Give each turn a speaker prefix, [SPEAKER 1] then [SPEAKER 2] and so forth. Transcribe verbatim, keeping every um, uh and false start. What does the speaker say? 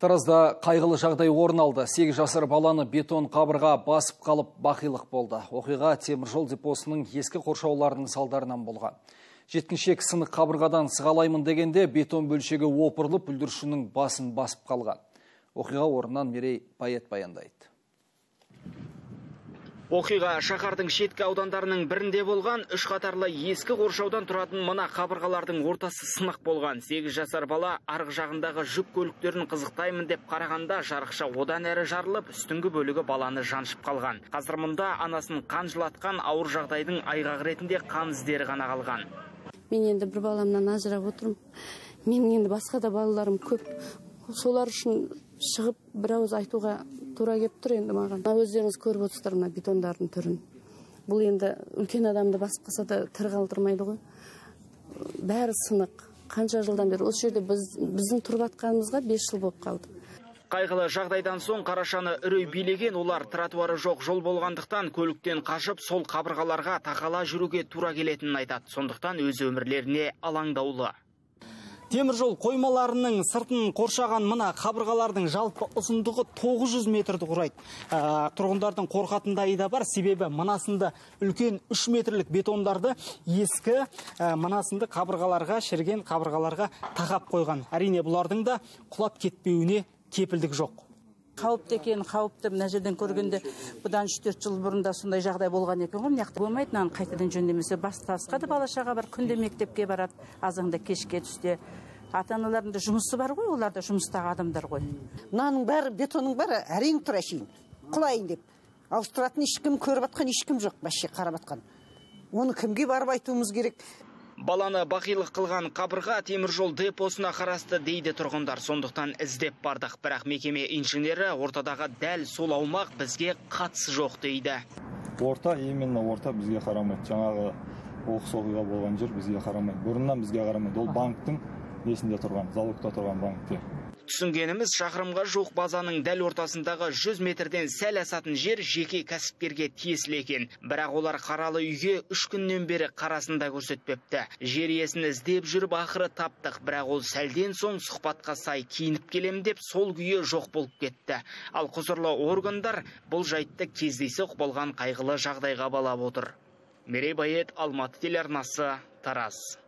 [SPEAKER 1] Таразда қайғылы жағдай орын алды. сегіз жасар баланы бетон қабырға басып қалып бақилық болды. Оқиға теміржол депосының ескі қоршауларының салдарынан болған. Жеткіншек сынық қабырғадан сығалаймын дегенде бетон бөлшегі опырылып бүлдіршіннің басын басып қалған. Оқиға орнынан Мерей Байет баяндайды.
[SPEAKER 2] Оқиға шаһардың шеткі аудандарының бірінде болған. Үш қатарлы ескі қоршаудан тұратын мына қабырғалардың ортасы сынық болған. сегіз жасар бала арғы жағындағы жүк көліктерін қызықтаймын деп қарағанда жарықша одан әрі жарылып, үстіңгі бөлігі баланы жаншып қалған. Қазір мұнда анасын қан жылатқан ауыр жағдайдың айғағы ретінде қан іздері ғана қалған.
[SPEAKER 3] Мен енді бір баламнан ажырап отырмын. Менің енді басқа да балаларым көп. Солар үшін шығып бір ауыз айтуға тура кеп тұр енді маған. Өздеріңіз көріп отырсыздар мына бетондардың түрін. Бұл енді үлкен адамды басып қалса да тірі қалдырмайды ғой. Бәрі сынық. Қанша жылдан бері осы жерде біз біздің тұрып атқанымызға бес жыл болып қалды.
[SPEAKER 2] Қайғылы жағдайдан соң Қарашаны үрей билеген, олар тротуары жоқ жол болғандықтан көліктен қашып сол қабырғаларға тақала жүруге тура келетінін айтады. Сондықтан өз өмірлеріне алаңдаулы.
[SPEAKER 4] Теміржол қоймаларының сыртын қоршаған мына қабырғалардың жалпы ұзындығы тоғыз жүз метрді құрайды. Ә, тұрғындардың қорқатындайы да бар, себебі мынасында үлкен үш метрлік бетондарды ескі ә, мынасында қабырғаларға, шірген қабырғаларға тақап қойған. Әрине бұлардың да құлап кетпеуіне кепілдік жоқ.
[SPEAKER 5] Қауіпті екен, қауіпті мына жерден көргенде бұдан үш төрт жыл бұрында сондай жағдай болған екен ғой. Мынақты болмайды, мынаны қайтадан жөндемесе басқа да бала-шаға бар, күнде мектепке барады, азанда кешке түсте. Ата-аналардың жұмысы бар ғой, олар да жұмыстағы адамдар ғой.
[SPEAKER 6] Мынаның бәрі, бетонның бәрі әрең тұр әшейін, құлайын деп. Ауыстыратын ешкім, көріп атқан ешкім жоқ, бәшше қарап атқан. Оны кімге барып айтуымыз керек?
[SPEAKER 2] Баланы бақилық қылған қабырға теміржол депосына қарасты дейді тұрғындар. Сондықтан іздеп бардық, бірақ мекеме инженері ортадағы дәл сол аумақ бізге қатысы жоқ дейді.
[SPEAKER 7] Орта, именно орта бізге қарамайды. Жаңағы оқыс оқиға болған жер бізге қарамайды. Бұрыннан бізге қарамайды. Ол банктың несінде тұрған, залогта тұрған банкте.
[SPEAKER 2] Түсінгеніміз, шақырымға жоқ базаның дәл ортасындағы жүз метрден сәл асатын жер жеке кәсіпкерге тиесілі екен. Бірақ олар қаралы үйге үш күннен бері қарасында көрсетпепті. Жер иесін іздеп жүріп ақыры таптық, бірақ ол сәлден соң сұхбатқа сай киініп келем деп сол күйі жоқ болып кетті. Ал құзырлы органдар бұл жайтты кездейсоқ болған қайғылы жағдайға балап отыр. Мерей Байет, Алматы телеарнасы, Тараз.